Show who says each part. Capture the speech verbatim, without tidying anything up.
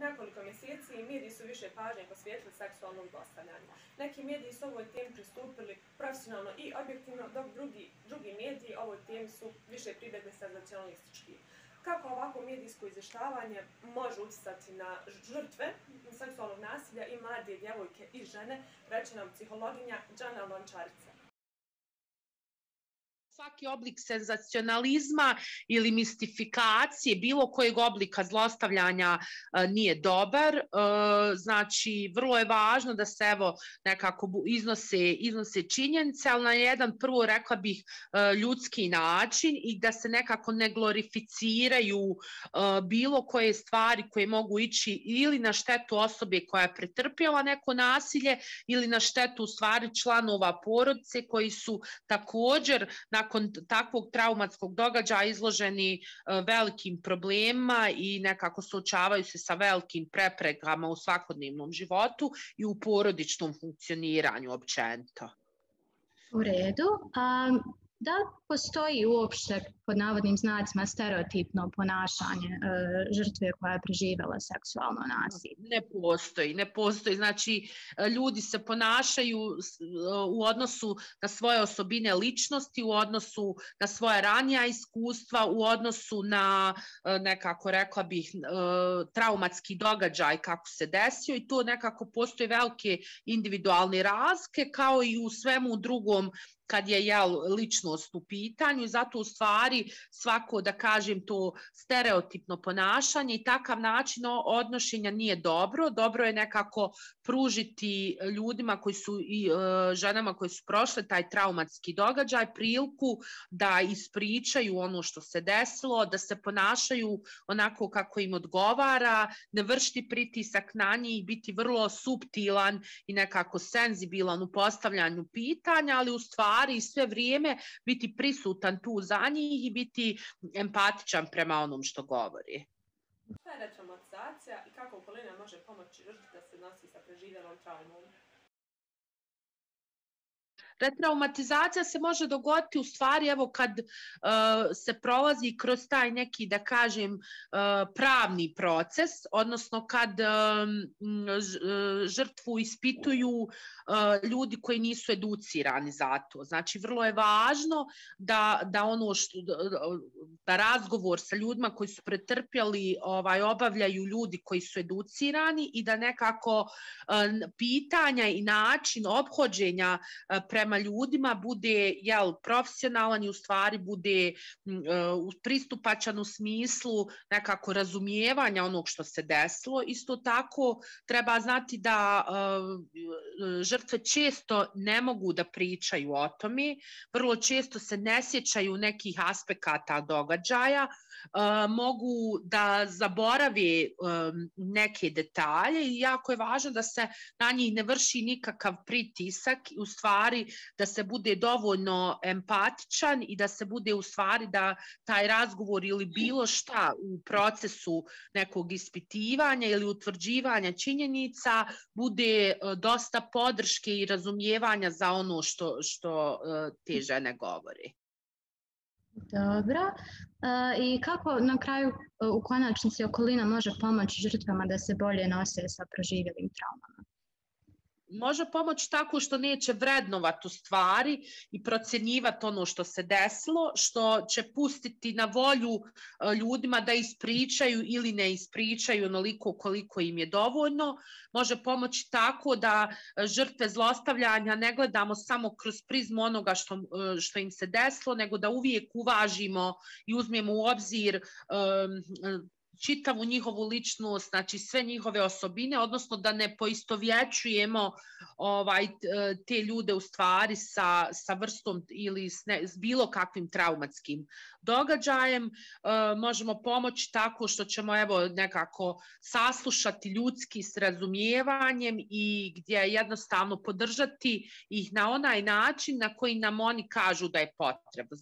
Speaker 1: nekoliko mjeseci mediji su više pažnje posvetili seksualnom zlostavljanju. Neki mediji su ovoj temi pristupili profesionalno i objektivno, dok drugi, drugi mediji ovoj temi su više pribjegli senzacionalistički. Kako ovako medijsko izvještavanje može utjecati na žrtve seksualnog nasilja i mlade djevojke i žene, reče nam psihologinja Đana Lončarica.
Speaker 2: Svaki oblik senzacionalizma ili mistifikacije bilo kojeg oblika zlostavljanja nije dobar. Znači, vrlo je važno da se evo nekako iznose, iznose činjenice, ali na jedan prvo rekla bih ljudski način i da se nekako ne glorificiraju bilo koje stvari koje mogu ići ili na štetu osobe koja je pretrpjela neko nasilje ili na štetu u stvari članova porodice koji su također na nakon takvog traumatskog događaja izloženi velikim problemima i nekako suočavaju se sa velikim preprekama u svakodnevnom životu i u porodičnom funkcioniranju općenito.
Speaker 3: U redu. A da postoji uopšte pod navodnim znacima stereotipno ponašanje e, žrtve koja je preživjela seksualno nasilje?
Speaker 2: Ne postoji, ne postoji. Znači, ljudi se ponašaju u odnosu na svoje osobine ličnosti, u odnosu na svoje ranija iskustva, u odnosu na, nekako rekla bih, traumatski događaj kako se desio i to nekako postoje velike individualne razlike kao i u svemu drugom kad je jel, ličnost u pitanju i zato u stvari svako, da kažem, to stereotipno ponašanje i takav način odnošenja nije dobro. Dobro je nekako pružiti ljudima koji su i e, ženama koji su prošle taj traumatski događaj priliku da ispričaju ono što se desilo, da se ponašaju onako kako im odgovara, ne vršiti pritisak na njih i biti vrlo suptilan i nekako senzibilan u postavljanju pitanja, ali u stvari i sve vrijeme biti prisutan tu za njih i biti empatičan prema onom što govori.
Speaker 1: Šta je retraumatizacija i kako okolina može pomoći žrtvi da se nosi sa preživjelom traumom?
Speaker 2: Retraumatizacija se može dogoditi u stvari evo kad uh, se prolazi kroz taj neki, da kažem, uh, pravni proces, odnosno kad um, žrtvu ispituju uh, ljudi koji nisu educirani za to. Znači, vrlo je važno da, da ono što, da razgovor sa ljudima koji su pretrpjeli ovaj, obavljaju ljudi koji su educirani i da nekako uh, pitanja i način ophođenja uh, prema prema ljudima bude jel, profesionalan i u stvari bude uh, pristupačan u smislu nekako razumijevanja onog što se desilo. Isto tako treba znati da uh, žrtve često ne mogu da pričaju o tome, vrlo često se ne sjećaju nekih aspekata događaja, Uh, mogu da zaborave um, neke detalje i jako je važno da se na njih ne vrši nikakav pritisak, u stvari da se bude dovoljno empatičan i da se bude u stvari da taj razgovor ili bilo šta u procesu nekog ispitivanja ili utvrđivanja činjenica bude uh, dosta podrške i razumijevanja za ono što, što uh, te žene govori.
Speaker 3: Dobro. E, I kako na kraju u konačnici okolina može pomoći žrtvama da se bolje nose sa proživjelim traumama?
Speaker 2: Može pomoći tako što neće vrednovati u stvari i procjenjivati ono što se desilo, što će pustiti na volju ljudima da ispričaju ili ne ispričaju onoliko koliko im je dovoljno. Može pomoći tako da žrtve zlostavljanja ne gledamo samo kroz prizmu onoga što, što im se desilo, nego da uvijek uvažimo i uzmemo u obzir um, čitavu njihovu ličnost, znači sve njihove osobine, odnosno da ne poistovjećujemo ovaj, te ljude u stvari sa, sa vrstom ili s, ne, s bilo kakvim traumatskim događajem. E, možemo pomoći tako što ćemo evo nekako saslušati ljudski s razumijevanjem i gdje jednostavno podržati ih na onaj način na koji nam oni kažu da je potrebno.